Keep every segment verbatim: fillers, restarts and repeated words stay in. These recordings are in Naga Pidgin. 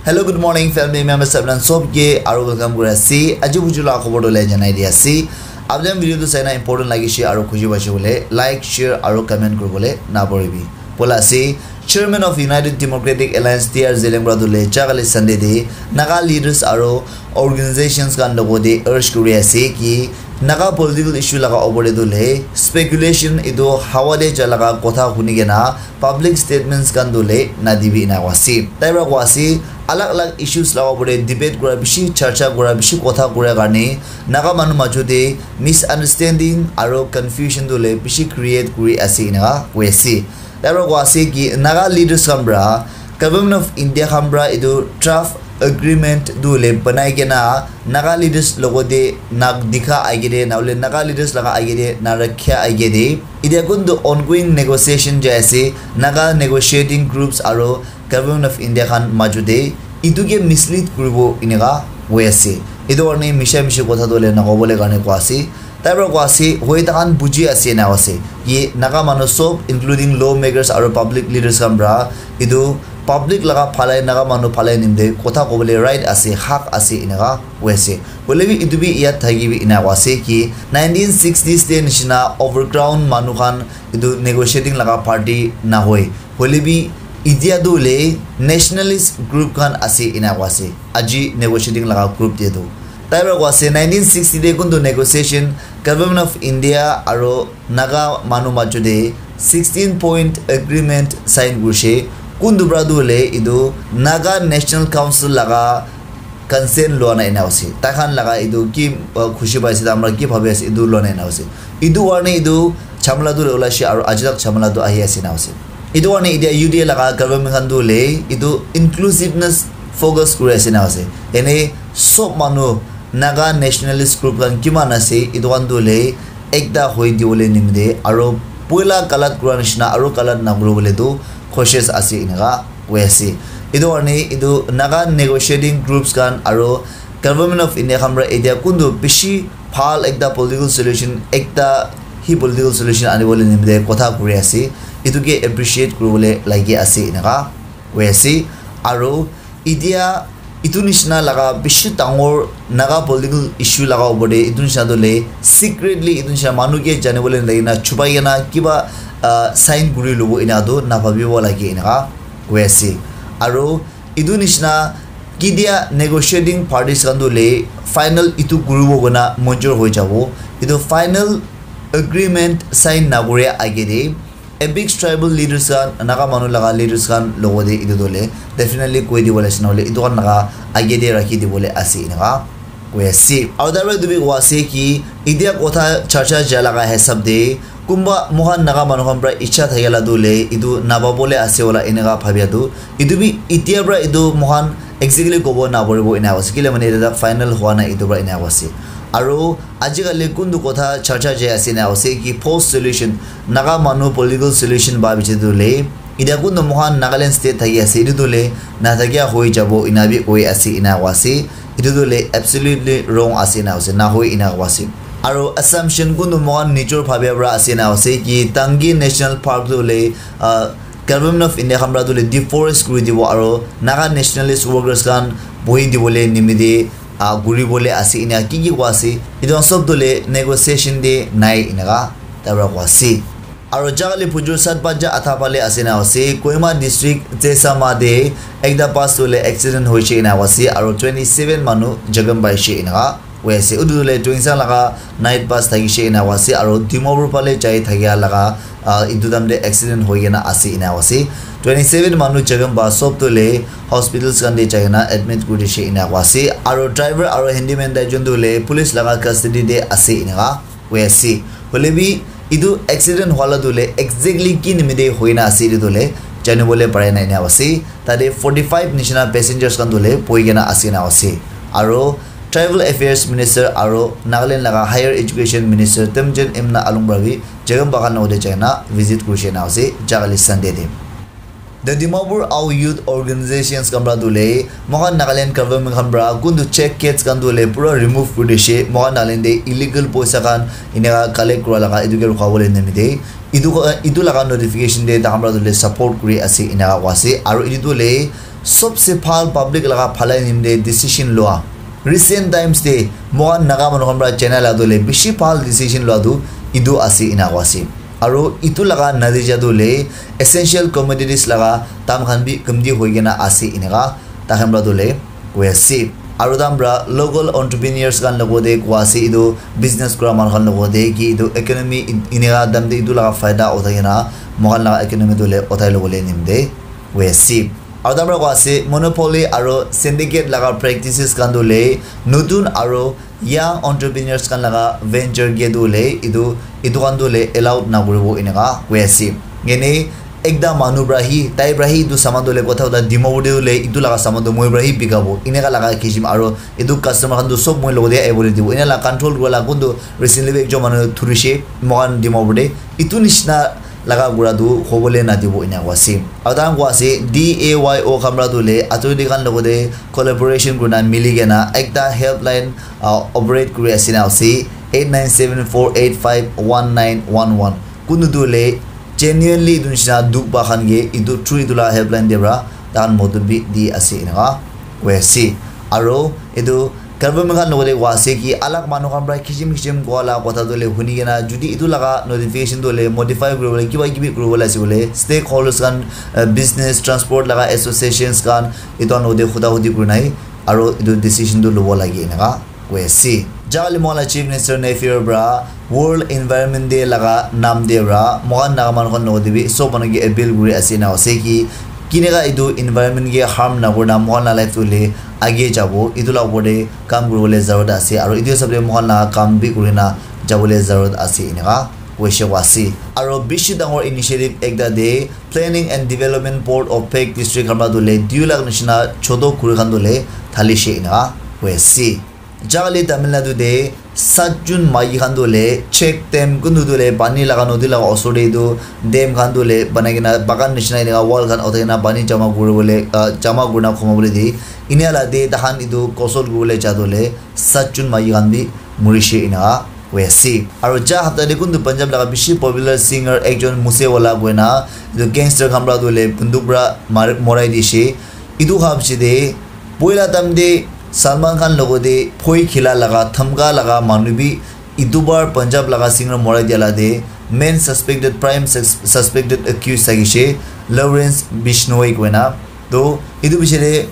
Hello, good morning, family members. Apni khan sob ke aru welcome kuri ase. Aji buju la khobor tu le janai di ase. Apni khan video tu saina important lagi she aru khushi paise bole like, share aru comment kuri bole na poribi. Bola ase, Chairman of United Democratic Alliance T R Zeliangrong tu le jagali Sunday de Naga leaders aru organizations khan logo de urge kuri ase ki Naga political issue laga opor de tu le speculation etu hawa de ja laga kotha huni kena public statements khan tu le na dibi ena koa ase. Tai para koa ase, alag alag issues laga opor de debate kura bishi, charcha kura bishi, kotha kura karne Naga manu majo de misunderstanding aru confusion tu le bishi create kuri ase ena koi ase. Tai para koa ase ki Naga leaders khan para Government of India khan para etu draft agreement tu le banai kena Naga leaders logo de na dikha aige de, na hole Naga leaders laga aige de, na rakha aige de. Etia kun tu ongoing negotiation jai ase, Naga negotiating groups aru Government of India khan majo de etu ke mislead kuribo eneka hoi ase. Etu karne misha mishi kotha tu le na kobole karne koa ase. Tai para koa ase, hoi takhan buji ase ena ase. Ye Naga manu sob, including lawmakers aru public leaders khan para etu public laga phale, Naga manu phale nimde kotha kobole right ase, hak ase eneka hoi ase. Hoile bi etu bi yad thaki bi ena koa ase ki nineteen sixties de nishina overground manu khan etu negotiating laga party na hoi. Hoile bi etia tu le nationalist group khan ase ena koa ase. Aji negotiating laga group de tu. Tai para koa ase nineteen sixty de kun tu negotiation Government of India aru Naga manu majo de sixteen point agreement sign kurishe. Kun tu para tu le etu Naga National Council laga consent lua na ena ase. Tai khan laga etu ki, uh, khushi paise, tai khan para ki bhabi ase, etu lua na ena ase. Etu karne etu chamala tu ulai she aru aji tak chamala tu ahi ase na ase. Etu karne etia U D A laga government khan tu le etu inclusiveness focus kuri ase na ase. Ene sob manu Naga nationalist group khan kiman ase, etu khan tu le ekta hoi dibole nimide aru poila galat kura nishina aru galat na kuribole tu cautious ase eneka hoi ase. Etu karne etu Naga negotiating groups khan aru Government of India khan para etia kuntu bishi bhal ekta political solution, ekta hi political solution anibole nimite kotha kuri ase. Etu ke appreciate kuribole lagi ase eneka hoi ase. Aru etia etu nishina laga bishi dangor Naga political issue laga opor te etu nishina tu le secretly etu nishina manu ke janibole nilai na chupai kena kiba, ah, sign kuri lobo ena tu nabhabibo lage eneka hoi ase. Aru etu nishina ketia negotiating parties khan tu le final etu kuribo koina manjur hoi jabo. Etu final agreement sign nakure age te apex tribal leaders khan, Naga manu laga leaders khan logo te etu tu le definitely koi dibo lagise na hole etu khan laga age te rakhi dibole ase eneka koi ase. Aru tai para etu bi koi ase ki etia kotha charcha jai laga hisab te kunba moikhan Naga manu khan para icha thakela tu le etu nababole ase wala eneka bhabia tu etu bi etia para etu moikhan exactly kobo naporibo ena ase. Kile mane etia final hua nai etu para ena ase. Aru ajikali kuntu kotha charcha jai ase ena ase ki post solution, Naga manu political solution ba biche tu le etia kuntu moikhan Nagaland state thaki ase etu tu le nathakia hoi jabo ena bi koi ase ena ase. Etu tu le absolutely wrong ase ena ase, na hoi ena ase. Aru assumption kuntu moikhan nijor bhabia para ase ena ase ki Tangi National Park tu le, ah, Government of India khan para tu le deforest kuri dibo aru Naga nationalist workers khan bohi dibole nimite, ah, kuri bole ase ena ki ki koi ase. Etu khan sob tu le negotiation te nai eneka tai para koi ase. Aru jaga le bujur sat baja atha phale ase ena ase. Kohima district Zesama te ekta bus tu le accident hoise ena ase aru twenty seven manu jakham paise eneka koi ase. Utu tu le Tuensang laga night bus thakise ena koi ase aru Dimapur phale jai thakia laga, ah, etu time te accident hoi kena ase ena koi ase. Twenty seven manu jakham ba sob tu le hospitals khan te jai kena admit kuri dise ena koi ase aru driver aru handyman tai jun tu le police laga custody te ase eneka koi ase. Hoile bi etu accident hwala tu le exactly ki nimite hoina ase etu tu le janibole pare nai ena ase. Tate forty five nishina passengers khan tu le bohi kena ase ena ase. Aru Tribal Affairs Minister aru Nagaland laga Higher Education Minister Temjen Imna Along para bi jakham ba khan logote jai kena visit kurise ena ase jaga le Sunday te. The Dimapur Ao Youth Organizations khan para tu le moikhan Nagaland government khan para kuntu check gates khan tu le pura remove kuri dise. Moikhan Nagaland te illegal poisa khan eneka collect kura laga etu ke rukha bole nimite etu, etu laga notification te tai khan para tu le support kuri ase eneka koi ase. Aru etu tu le Sobse bhal public laga bhalai nimite decision loa. Recent times te mohan Naga manu khan para China la tu le bishi bhal decision loa tu etu ase ena koa ase. Aru etu laga natija tu le essential commodities laga dam khan bi kamti hoi kena ase eneka takhan para tu le koi ase. Aru takhan para local entrepreneurs khan logote koi ase etu business kura manu khan logote ki etu economy eneka dam te etu laga faida uthai kena mohan laga economy tu le uthai lobole nimite koi ase. Aru takhan para koi ase monopoly aru syndicate laga practices khan tu le notun aru young entrepreneurs khan laga venture ke tu le etu etu khan tu le allowed na kuribo eneka koi ase. Yene ekta manu para hi tai para hi etu saman tu le kotha kotha Dimapur te tu le etu laga saman tu moi para hi bikabo eneka laga kijim aru etu customer khan tu sob moi logote ahibole dibo ena la control kura la kun tu recently bi ekjon manu thurishe mohan Dimapur te etu nishina laga kura tu hobole nadibo ena koa ase. Aru takhan koa ase D A Y O khan para tu le authority khan logote collaboration kurina mili kena ekta helpline uh, operate kuri ase na ase eight nine seven four eight five one nine one one. Kunu tu le genuinely etu nishina dukh pa khan ke etu through etu la helpline de para takhan modot bi di ase eneka koi ase. Aru etu government khan logote koi ase ki alag manu khan para kisim kisim koi la kotha tu le huni kena jodi etu laga notification tu le modify kuribole kiba kibi kuribole ase koile stakeholders khan uh, business transport laga associations khan etu khan logote huda hudi kurina hi aru etu decision tu lobo lage eneka koi ase. Jali mola Chief Minister Neiphiu para World Environment Day laga nam de para mohan Naga manu khan logote bi sob manu ke appeal kuri ase na ase ki kineka etu environment ke harm na kurina mohan la life tu le age jabo etu la upor te kam kuribole zarurat ase aru etu hisab te mohan la kam bi kurina jabole zarurat ase eneka koise koa ase. Aru bishi dangor initiative ekta de Planning and Development Board of Phek District khan para tu le dui lakh nishina choto khuri khan tu le thalishe eneka koi ase. Jali Tamil Nadu te sat jun maiki khan tu le check dam kuntu tu le pani laga nodi laga osor te etu dam khan tu le banai kena bagan nishina eneka wall khan uthai kena pani jama kuribole uh, jama kurina khoma bole de enia la de takhan etu kosol kuribole ja tu le sat jun maiki khan bi murishe eneka koi ase. Aru ja hapta te kuntu Punjab laga bishi popular singer ekjon Moose Wala koina etu gangster khan para tu le bunduk para morai dishe. Etu kha piche te poila time te Salman Khan logote phoi khila laga dhamka laga manu bi etu bar Punjab laga singer morai dia la te main suspected prime sus- suspected accused thakishe Lawrence Bishnoi koina. To etu piche te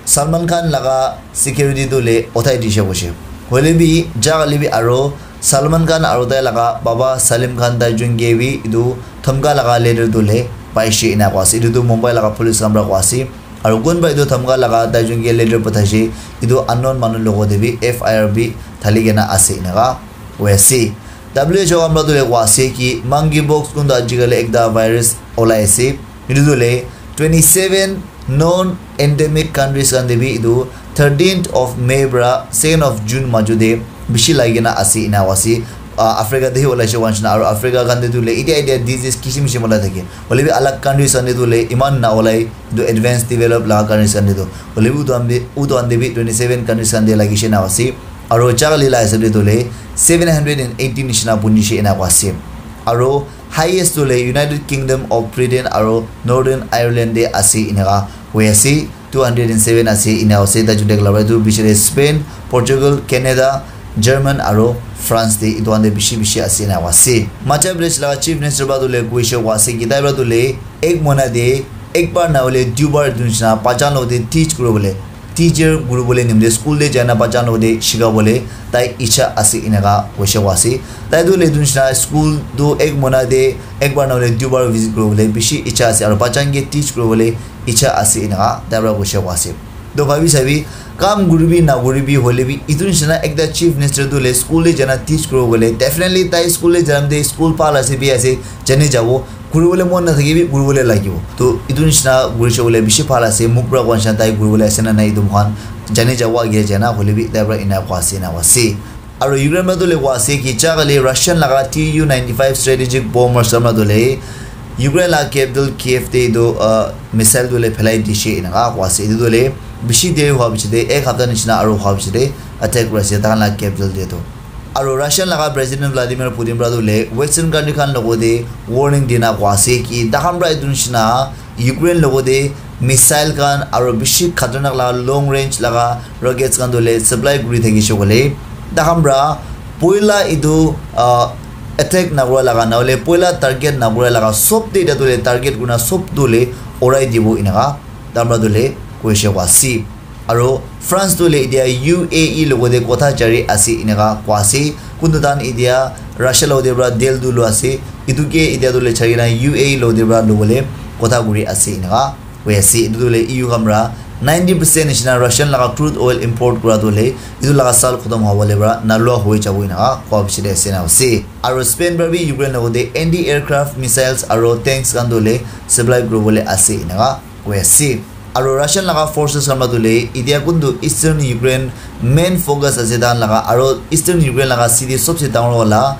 Salman Khan laga security tu le uthai dishe koishe. Hoile bi ja kali bi aro Salman Khan aro tai laga baba Salim Khan tai jun ke bi etu dhamka laga letter tu le paishe ena koa ase. Etu tu Mumbai laga police khan para koa ase. Aro kun para etu dhamka laga tai jun ke letter pathaishe etu unknown manu logote bi F I R bi thali kena ase eneka koi ase. W H O khan para tu le koa ase ki monkeypox kun tu ajikali ekta virus olai ase. Etu tu le twenty seven non endemic countries khan te bi etu thirteenth of May para second of June maju te bishi lagi kena ase ena koa ase. Ah, Africa te hi olai she koa nishina aro Africa khan te tu le etia etia disease kisim kisim olai thake. Hoile bi alag countries khan te tu le iman na olai etu advanced develop laga countries khan te tu. Hoile bi utu khan te utu khan te bi twenty seven countries khan te lagi she na ase. Aro ja kali la hisab te tu le seven hundred and eighty nishina buni she ena koa ase. Aro highest tu le United Kingdom of Britain aro Northern Ireland te ase eneka koi ase. Two hundred and seven ase ena ase tai jun te kala para etu bishi te Spain, Portugal, Canada, German aro France te etu khan te bishi bishi ase ena koa ase. Madhya Pradesh laga chief minister para tu le koishe koa ase ki tai para tu le ek mohina te ek bar na hoile dui bar etu nishina bacha logote teach kuri bole teacher kuri bole nimite school te jai na bacha logote shika bole tai icha ase eneka koishe koa ase. Tai tu le etu nishina school tu ek mohina te ek bar na hoile dui bar visit kuri bole bishi icha ase aro bacha ke teach kuri bole icha ase eneka tai para koishe koa ase. To bhabi sabi kam kuribi na kuribi hoile bi etu nishina ekta chief minister tu le school te jai na teach kuri bole definitely tai school te jai na te school bhal ase bi ase jani jabo kuri bole mon na thaki bi kuri bole lagibo. To etu nishina kuri she bole bishi bhal ase muk para koa nishina tai kuri bole ase na nai etu moikhan jani jabo age jai na hoile bi tai para ena koa ase ena koa ase. Aro Ukraine para tu le koa ase ki ja kali Russian laga T U ninety five strategic bombers khan para tu le Ukraine laga capital Kiev te etu uh, missile tu le phelai dishe eneka koa ase. Etu tu le bishi deri hua piche te ek hapta nishina aro hua piche te attack kuri ase tai khan laga capital te tu. Aro Russian laga president Vladimir Putin para tu le western country khan logote warning dina koa ase ki tai khan para etu nishina Ukraine logote missile khan aro bishi khatarnak laga long range laga rockets khan tu hoile supply kuri thakishe koile, takhan pra poila etu, ah, attack nakura laga, nahole poila target nakura laga sob te etia tu hoile target kurina sob tu hoile urai dibo enaka takhan pra tu hoile koishe koa ase. Aro France tu hoile etia U A E logote kotha jari ase enaka koa ase. Kuntu takhan etia Russia logote pra deal tu lua ase. Etu ke etia tu hoile chari kena U A E logote pra lobole kotha kuri ase enaka koi ase. Etu tu hoile E U khan pra ninety percent nishina Russian laga crude oil import kura tu hoile etu laga saal khotom hobole pra nalua hoi jabo enaka koa bishi de ase na ase. Aro Spain pra bi Ukraine logote anti aircraft missiles aro tanks khan tu hoile supply kuribole ase enaka koi ase. Aro Russian laga forces khan pra tu hoile etia kuntu eastern Ukraine main focus ase takhan laga, aro eastern Ukraine laga city sobse dangor wala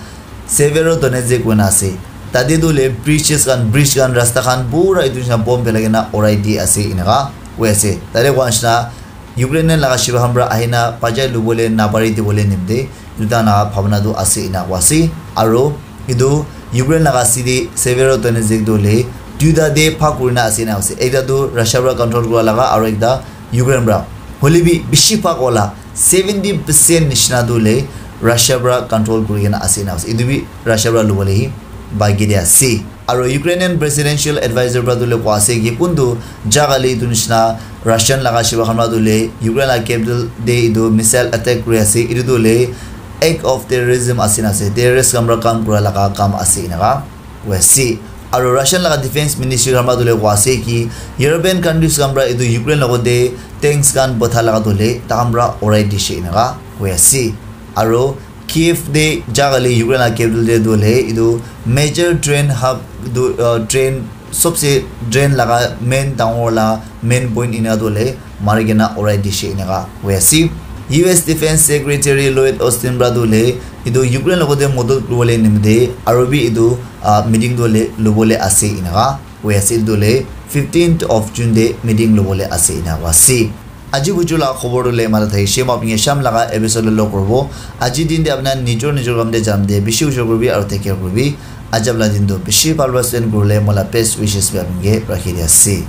Severodonetsk koina ase. Tate tu hoile bridges khan, bridge khan, rasta khan pura etu nishina bomb pelai kena urai di ase enaka koi ase. Tate koa nishina Ukrainian laga shiba khan pra ahina bajai lubole napari dibole nimite etu takhan laga bhabna tu ase ena koa ase. Aro etu Ukraine laga city Severodonetsk tu hoile duita te bhag kurina ase ena ase. Ekta tu Russia pra control kura laga aro ekta Ukraine pra. Hoile bi bishi bhag wala seventy percent nishina tu hoile Russia pra control kuri kena ase ena ase. Etu bi Russia pra lubole hi baki de ase. Aro Ukrainian presidential advisor pra tu hoile koa ase ki kuntu jaga le etu nishina Russian laga shiba khan pra tu hoile Ukraine laga capital te etu missile attack kuri ase. Etu tu hoile act of terrorism ase na ase. Terrorist khan pra kam kura laga kam ase enaka koi ase. Aro Russian laga defense ministry khan pra tu hoile koa ase ki European countries khan pra etu Ukraine logote tanks khan patha laga tu hoile takhan pra urai dishe enaka koi ase. Aro Kiev te jaga le Ukraine laga capital te tu hoile etu major train hub tu, uh, train sobse train laga main dangor la main point ena tu hoile mari kena urai dishe enaka koi ase. U S Defense Secretary Lloyd Austin pra tu hoile etu Ukraine logote modot kuribole nimite aro bi etu, ah, meeting tu hoile lubole ase enaka koi ase. Etu tu hoile fifteenth of June te meeting lubole ase enaka ase. Aji buju la khobor tu hoile mata thakishe, moi apni ke sham laga episode lo log koribo. Aji din te apna nijor nijor kam te jam te bishi ujor kuribi aro take care kuribi. Ajab la din tu bishi bhal pra spend kurile moi la best wishes bi apni ke rakhi di ase.